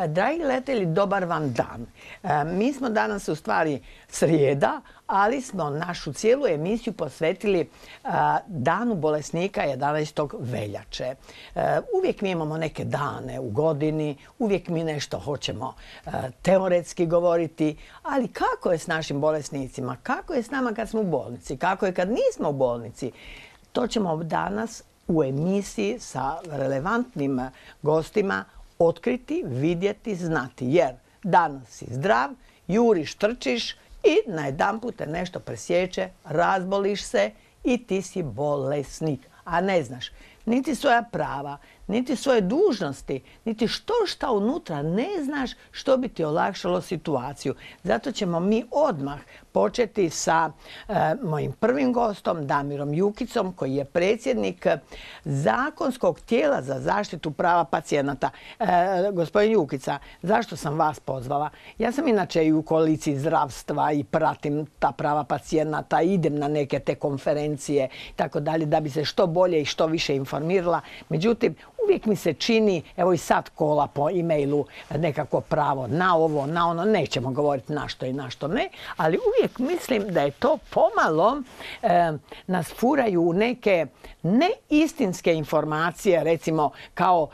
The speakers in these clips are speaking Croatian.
Dragi gledatelji, dobar vam dan. Mi smo danas u stvari srijeda, ali smo našu cijelu emisiju posvetili Danu bolesnika 11. veljače. Uvijek mi imamo neke dane u godini, uvijek mi nešto hoćemo teoretski govoriti, ali kako je s našim bolesnicima? Kako je s nama kad smo u bolnici? Kako je kad nismo u bolnici? To ćemo danas u emisiji sa relevantnim gostima otkriti, vidjeti, znati. Jer danas si zdrav, juriš, trčiš i najedanput te nešto presječe, razboliš se i ti si bolesnik. A ne znaš niti svoja prava, niti svoje dužnosti, niti šta unutra ne znaš što bi ti olakšalo situaciju. Zato ćemo mi odmah početi sa mojim prvim gostom, Damirom Jukicom, koji je predsjednik zakonskog tijela za zaštitu prava pacijenata. Gospodin Jukica, zašto sam vas pozvala? Ja sam inače i u koaliciji zdravstva i pratim ta prava pacijenata, idem na neke te konferencije i tako dalje, da bi se što bolje i što više informirala. Međutim, uvijek mi se čini, evo i sad kola po e-mailu, nekako pravo na ovo, na ono, nećemo govoriti na što i na što ne, ali uvijek mislim da je to pomalo nas furaju u neke neistinske informacije, recimo kao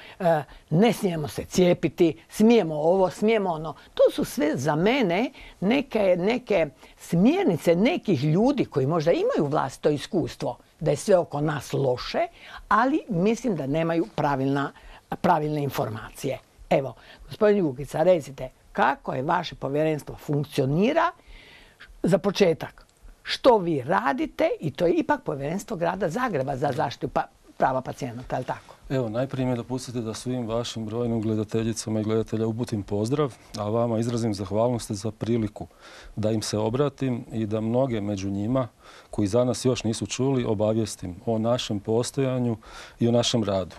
ne smijemo se cijepiti, smijemo ovo, smijemo ono. To su sve za mene neke smjernice nekih ljudi koji možda imaju vlastito iskustvo da je sve oko nas loše, ali mislim da nemaju pravilne informacije. Evo, gospodin Jukica, recite, kako je vaše povjerenstvo funkcionira? Za početak, što vi radite? I to je ipak povjerenstvo grada Zagreba za zaštitu prava pacijenata, je li tako? Evo, najprije mi dopustite da svim vašim brojnim gledateljicama i gledatelja uputim pozdrav, a vama izrazim zahvalnost za priliku da im se obratim i da mnoge među njima, koji za nas još nisu čuli, obavijestim o našem postojanju i o našem radu.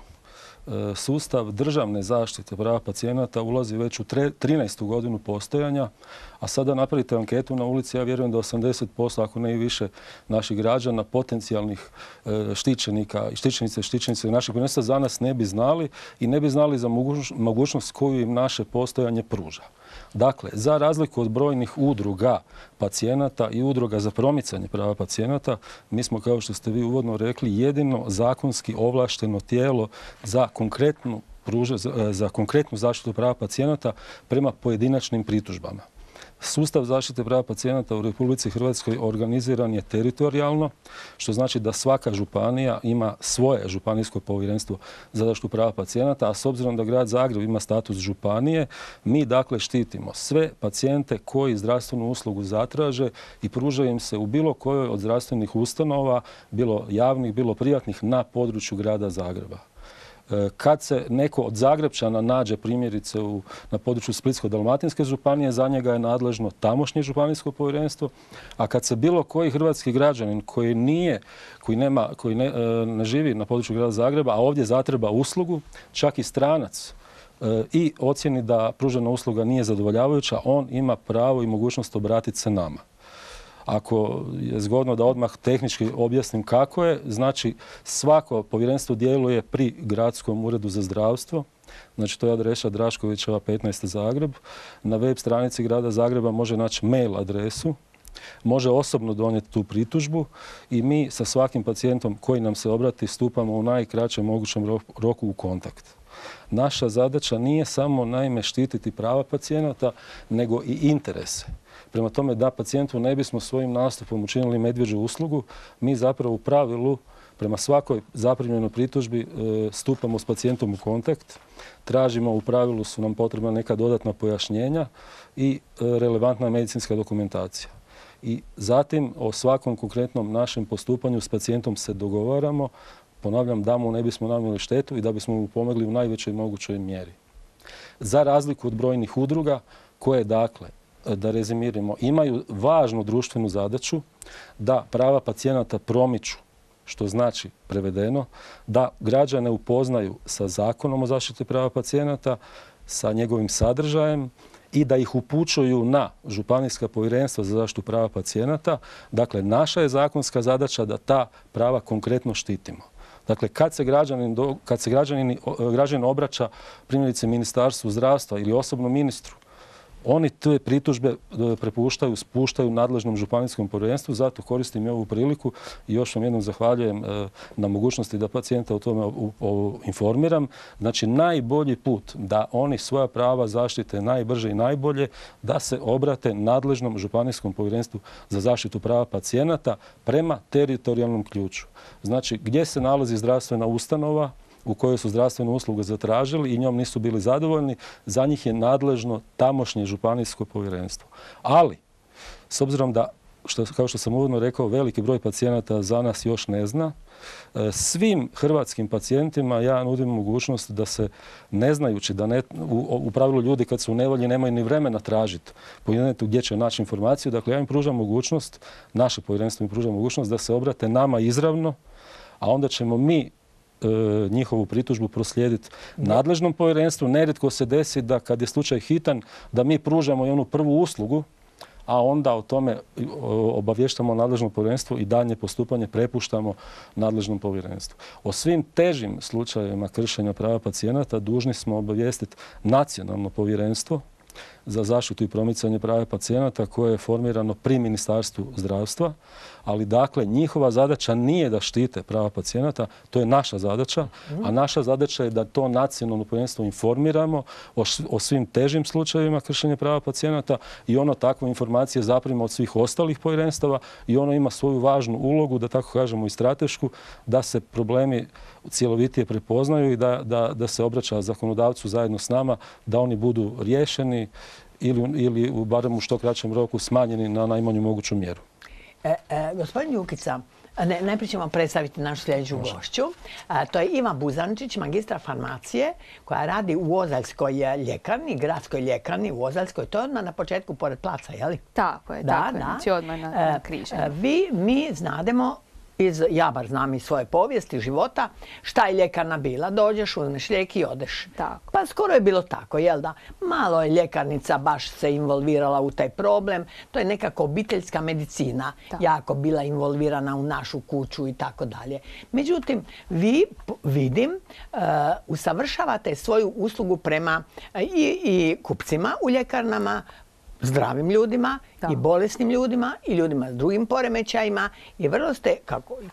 Sustav državne zaštite prava pacijenata ulazi već u 13. godinu postojanja, a sada napravite anketu na ulici, ja vjerujem da 80%, ako ne i više, naših građana, potencijalnih štićenika i štićenice našeg povjerenstva za nas ne bi znali i ne bi znali za mogućnost koju im naše postojanje pruža. Dakle, za razliku od brojnih udruga pacijenata i udruga za promicanje prava pacijenata, mi smo, kao što ste vi uvodno rekli, jedino zakonski ovlašteno tijelo za konkretnu zaštitu prava pacijenata prema pojedinačnim pritužbama. Sustav zaštite prava pacijenata u Republici Hrvatskoj organiziran je teritorijalno, što znači da svaka županija ima svoje županijsko povjerenstvo za zaštitu prava pacijenata, a s obzirom da grad Zagreb ima status županije, mi dakle štitimo sve pacijente koji zdravstvenu uslugu zatraže i pružaju im se u bilo kojoj od zdravstvenih ustanova, bilo javnih, bilo privatnih, na području grada Zagreba. Kad se neko od Zagrebčana nađe primjerice na području Splitsko-dalmatinske županije, za njega je nadležno tamošnje županijsko povjerenstvo, a kad se bilo koji hrvatski građanin koji ne živi na području grada Zagreba, a ovdje zatreba uslugu, čak i stranac, i ocjeni da pružena usluga nije zadovoljavajuća, on ima pravo i mogućnost obratiti se nama. Ako je zgodno da odmah tehnički objasnim kako je, znači svako povjerenstvo djeluje pri Gradskom uredu za zdravstvo, znači to je adresa Draškovićeva 15 Zagreb. Na web stranici grada Zagreba može naći mail adresu, može osobno donijeti tu pritužbu i mi sa svakim pacijentom koji nam se obrati stupamo u najkraćem mogućem roku u kontakt. Naša zadaća nije samo naime štititi prava pacijenata, nego i interese. Prema tome, da pacijentu ne bismo svojim nastupom učinili medvjeđu uslugu, mi zapravo u pravilu prema svakoj zaprimljenoj pritužbi stupamo s pacijentom u kontakt, tražimo, u pravilu su nam potrebna neka dodatna pojašnjenja i relevantna medicinska dokumentacija. I zatim o svakom konkretnom našem postupanju s pacijentom se dogovaramo, ponavljam, da mu ne bismo nanijeli štetu i da bismo mu pomogli u najvećoj mogućoj mjeri. Za razliku od brojnih udruga koje, dakle, da rezimiramo, imaju važnu društvenu zadaću da prava pacijenata promiču, što znači prevedeno da građane upoznaju sa Zakonom o zaštiti prava pacijenata, sa njegovim sadržajem i da ih upućuju na županijska povjerenstva za zaštitu prava pacijenata. Dakle, naša je zakonska zadaća da ta prava konkretno štitimo. Dakle, kad se građanin obraća primjerice Ministarstvu zdravstva ili osobno ministru, oni te pritužbe spuštaju nadležnom županijskom povjerenstvu, zato koristim i ovu priliku i još vam jednom zahvaljujem na mogućnosti da pacijenta o tome informiram. Znači, najbolji put da oni svoja prava zaštite najbrže i najbolje, da se obrate nadležnom županijskom povjerenstvu za zaštitu prava pacijenata prema teritorijalnom ključu. Znači, gdje se nalazi zdravstvena ustanova u kojoj su zdravstvenu uslugu zatražili i njom nisu bili zadovoljni, za njih je nadležno tamošnje županijsko povjerenstvo. Ali, s obzirom da, kao što sam uvodno rekao, veliki broj pacijenata za nas još ne zna, svim hrvatskim pacijentima ja nudim mogućnost da se, ne znajući da u pravilu ljudi kad su u nevolji nemaju ni vremena tražiti po internetu gdje će naći informaciju, dakle ja im pružam mogućnost, naše povjerenstvo im pruža mogućnost da se obrate nama izravno, a onda ćemo mi njihovu pritužbu proslijediti nadležnom povjerenstvu. Nerijetko se desi da kad je slučaj hitan, da mi pružamo i onu prvu uslugu, a onda o tome obavještamo nadležno povjerenstvo i daljnje postupanje prepuštamo nadležnom povjerenstvu. O svim težim slučajevima kršenja prava pacijenata dužni smo obavijestiti nacionalno povjerenstvo za zaštitu i promicanje prava pacijenata koje je formirano pri Ministarstvu zdravstva, ali dakle njihova zadaća nije da štite prava pacijenata, to je naša zadaća, a naša zadaća je da to nacionalno povjerenstvo informiramo o svim težim slučajevima kršenja prava pacijenata i ono takve informacije zaprima od svih ostalih povjerenstava i ono ima svoju važnu ulogu, da tako kažemo i stratešku, da se problemi cjelovitije prepoznaju i da se obraća zakonodavcu zajedno s nama, da oni budu riješeni ili barem u što kraćem roku smanjeni na najmanju moguću mjeru. Gospodin Jukica, najprije ćemo predstaviti našu sljedeću gošću. To je Iva Buzančić, magistra farmacije, koja radi u Ozaljskoj ljekarni, gradskoj ljekarni u Ozaljskoj. To je odmah na početku pored placa, je li? Tako je, znači odmah na križanju. Mi znademo, ja bar znam iz svoje povijesti života, šta je ljekarna bila. Dođeš, uzmeš lijek i odeš. Tako. Pa skoro je bilo tako, jel da? Malo je ljekarnica baš se involvirala u taj problem. To je nekako obiteljska medicina jako bila involvirana u našu kuću i tako dalje. Međutim, vi, vidim, usavršavate svoju uslugu prema i kupcima u ljekarnama, zdravim ljudima i bolesnim ljudima i ljudima s drugim poremećajima i vrlo ste,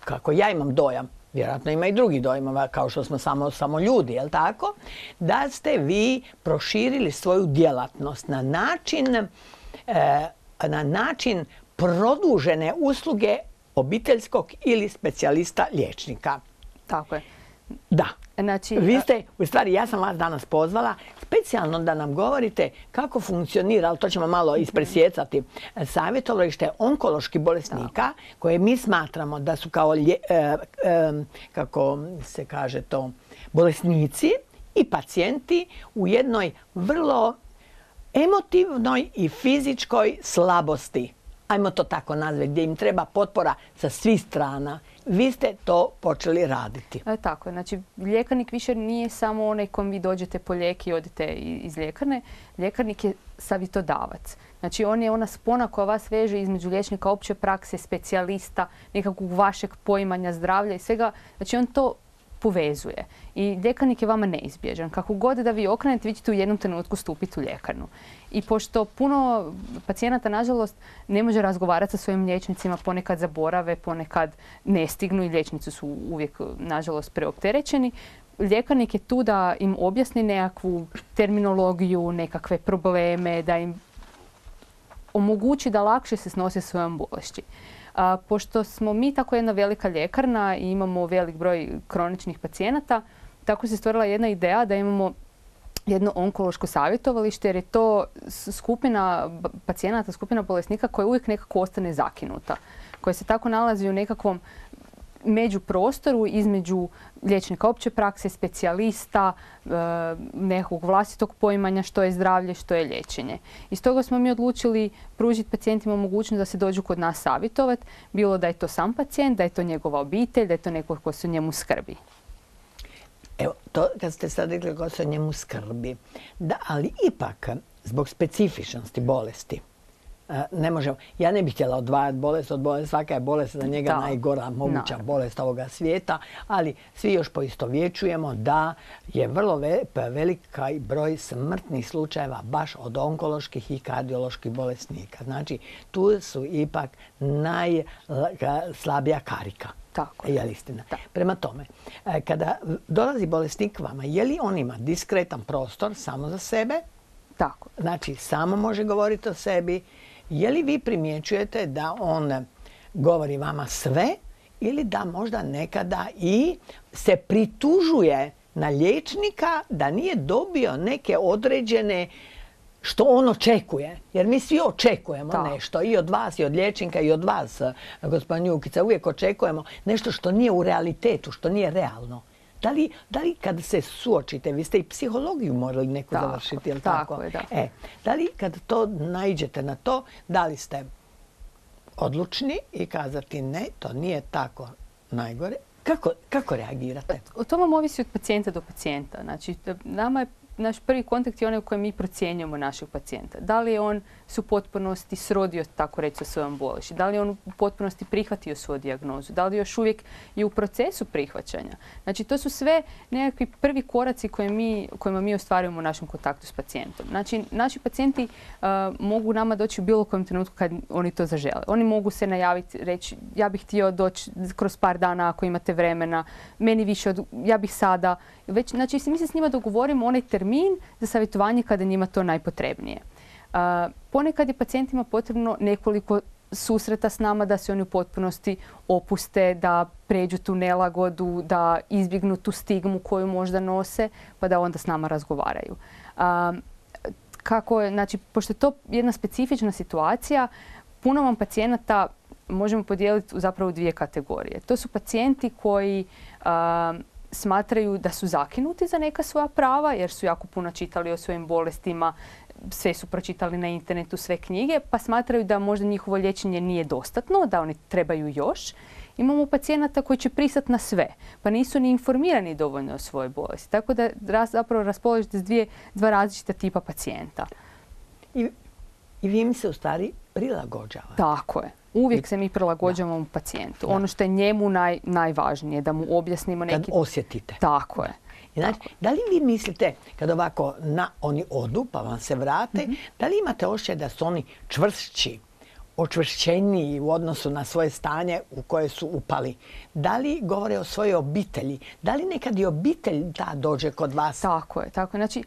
kako ja imam dojam, vjerojatno ima i drugi dojmova kao što smo samo ljudi, jel tako, da ste vi proširili svoju djelatnost na način produžene usluge obiteljskog ili specijalista liječnika. Tako je. Da. Znači, vi ste, u stvari ja sam vas danas pozvala specijalno da nam govorite kako funkcionira, ali to ćemo malo ispresjecati, savjetovalište onkoloških bolesnika koje mi smatramo da su kao, kako se kaže to, bolesnici i pacijenti u jednoj vrlo emotivnoj i fizičkoj slabosti. Ajmo to tako nazvati, gdje im treba potpora sa svih strana. Vi ste to počeli raditi. Tako je. Znači, ljekarnik više nije samo onaj kom vi dođete po lijek i odete iz ljekarne. Ljekarnik je savjetodavac. Znači, on je ona spona koja vas veže između liječnika opće prakse, specijalista, nekakvog vašeg poimanja zdravlja i svega. Znači, on to povezuje. I ljekarnik je vama neizbježan. Kako god da vi okrenete, vi ćete u jednom trenutku stupiti u ljekarnu. I pošto puno pacijenata, nažalost, ne može razgovarati sa svojim liječnicima, ponekad zaborave, ponekad ne stignu i liječnici su uvijek, nažalost, preopterećeni, ljekarnik je tu da im objasni nekakvu terminologiju, nekakve probleme, da im omogući da lakše se snose svojom bolešći. Pošto smo mi tako jedna velika ljekarna i imamo velik broj kroničnih pacijenata, tako se stvorila jedna ideja da imamo jedno onkološko savjetovalište, jer je to skupina pacijenata, skupina bolesnika koja uvijek nekako ostane zakinuta, koja se tako nalazi u nekakvom međuprostoru između liječnika opće prakse, specijalista, nekog vlastitog poimanja što je zdravlje, što je liječenje. I stoga smo mi odlučili pružiti pacijentima mogućnost da se dođu kod nas savjetovati, bilo da je to sam pacijent, da je to njegova obitelj, da je to neko ko se o njemu skrbi. Evo, to kad ste sad rekli ko se o njemu skrbi, da, ali ipak zbog specifičnosti bolesti, ne možemo. Ja ne bih htjela odvajati bolest od bolesti. Svaka je bolest za njega najgora moguća bolest ovoga svijeta, ali svi još poistovjećujemo da je vrlo velika broj smrtnih slučajeva baš od onkoloških i kardioloških bolesnika. Znači, tu su ipak najslabija karika. Tako je. Istina. Prema tome, kada dolazi bolesnik vama, je li on ima diskretan prostor samo za sebe? Tako. Znači, samo može govoriti o sebi. Je li vi primjećujete da on govori vama sve ili da možda nekada i se pritužuje na liječnika da nije dobio neke određene što on očekuje? Jer mi svi očekujemo nešto i od vas i od liječnika i od vas, gospodin Jukica, uvijek očekujemo nešto što nije u realitetu, što nije realno. Da li kad se suočite, vi ste i psihologiju morali neku završiti, jel tako? Tako je, da. Da li kad to naiđete na to, da li ste odlučni i kazati ne, to nije tako najgore? Kako reagirate? O tome vam ovisi od pacijenta do pacijenta. Znači, nama je naš prvi kontakt je onaj u kojem mi procjenjujemo našeg pacijenta. Da li je on se u potpunosti srodio, tako reći, sa svojom bolešću? Da li je on u potpunosti prihvatio svoju dijagnozu? Da li još uvijek je u procesu prihvaćanja? Znači, to su sve nekakvi prvi koraci kojima mi ostvarujemo u našem kontaktu s pacijentom. Znači, naši pacijenti mogu nama doći u bilo kojem trenutku kad oni to zažele. Oni mogu se najaviti, reći ja bih htio doći kroz par dana ako imate vremena, meni više ja bih sada. Znači, mi se s njima dogovorimo onaj termin za savjetovanje kada je njima to najpotrebnije. Ponekad je pacijentima potrebno nekoliko susreta s nama da se oni u potpunosti opuste, da pređu tu nelagodu, da izbjegnu tu stigmu koju možda nose, pa da onda s nama razgovaraju. Znači, pošto je to jedna specifična situacija, puno vam pacijenata možemo podijeliti zapravo u dvije kategorije. To su pacijenti koji smatraju da su zakinuti za neka svoja prava jer su jako puno čitali o svojim bolestima, sve su pročitali na internetu, sve knjige, pa smatraju da možda njihovo liječenje nije dostatno, da oni trebaju još. Imamo pacijenata koji će pristati na sve, pa nisu ni informirani dovoljno o svojoj bolesti. Tako da zapravo raspolažete s dva različita tipa pacijenta. I vi im se u stvari prilagođavate. Tako je. Uvijek se mi prilagođavamo pacijentu. Ono što je njemu najvažnije, da mu objasnimo neki... Kad osjetite. Tako je. Znači, da li vi mislite, kad ovako oni odu pa vam se vrate, da li imate osjećaj da su oni čvršći, očvršćeniji u odnosu na svoje stanje u koje su upali? Da li govore o svojoj obitelji? Da li nekad i obitelj dođe kod vas? Tako je. Znači,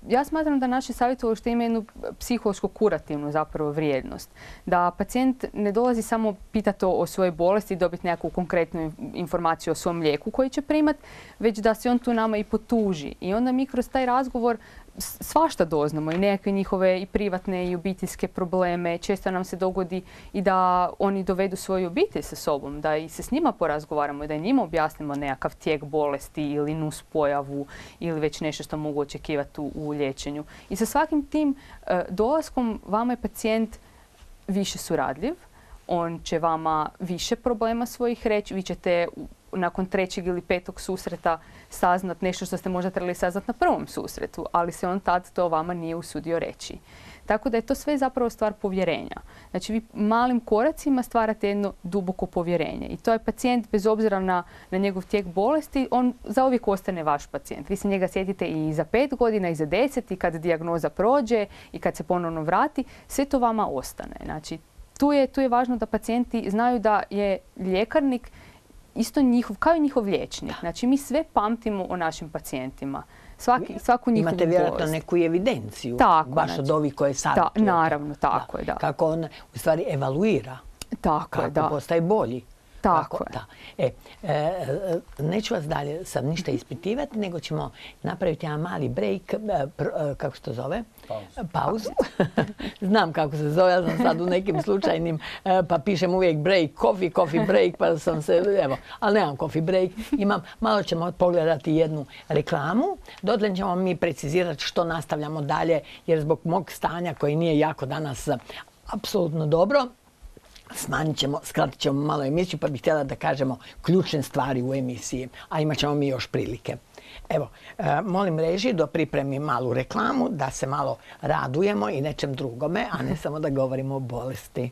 ja smatram da naše savjetovalište ima jednu psihološko-kurativnu zapravo vrijednost. Da pacijent ne dolazi samo pitati o svojoj bolesti i dobiti nekakvu konkretnu informaciju o svom lijeku koji će primat, već da se on tu nama i potuži. I onda mi kroz taj razgovor svašta doznamo i nekakve njihove i privatne i obiteljske probleme. Često nam se dogodi i da oni dovedu svoju obitelj sa sobom, da i se s njima porazgovaramo i da njima objasnimo nekakav tijek bolesti ili nus pojavu ili već nešto što mogu očekivati u liječenju. I sa svakim tim dolaskom vama je pacijent više suradljiv, on će vama više problema svojih reći, vi ćete nakon 3. ili 5. susreta saznat nešto što ste možda trebali saznat na prvom susretu, ali se on tad to vama nije usudio reći. Tako da je to sve zapravo stvar povjerenja. Znači vi malim koracima stvarate jedno duboko povjerenje i to je pacijent bez obzira na njegov tijek bolesti, on zauvijek ostane vaš pacijent. Vi se njega sjetite i za 5 godina i za 10 i kad dijagnoza prođe i kad se ponovno vrati, sve to vama ostane. Znači tu je važno da pacijenti znaju da je ljekarnik isto njihov, kao i njihov liječnik. Znači, mi sve pamtimo o našim pacijentima. Svaku njihovu imate vjerojatno neku evidenciju, baš od ovih koje savjetujete. Naravno, tako je, da. Kako on u stvari evaluira, kako postaje bolji. Tako je. Neću vas dalje sad ništa ispitivati, nego ćemo napraviti jedan mali break, kako se to zove? Pauzu. Znam kako se zove, ja sam sad u nekim slučajnim, pa pišem uvijek break, coffee break, pa sam se, evo, ali nemam coffee break. Malo ćemo pogledati jednu reklamu, dotle ćemo mi precizirati što nastavljamo dalje, jer zbog mog stanja koji nije jako danas apsolutno dobro, skratit ćemo malo emisiju, pa bih htjela da kažemo ključne stvari u emisiji, a imat ćemo mi još prilike. Evo, molim režiju da pripremi malu reklamu, da se malo radujemo i nečem drugome, a ne samo da govorimo o bolesti.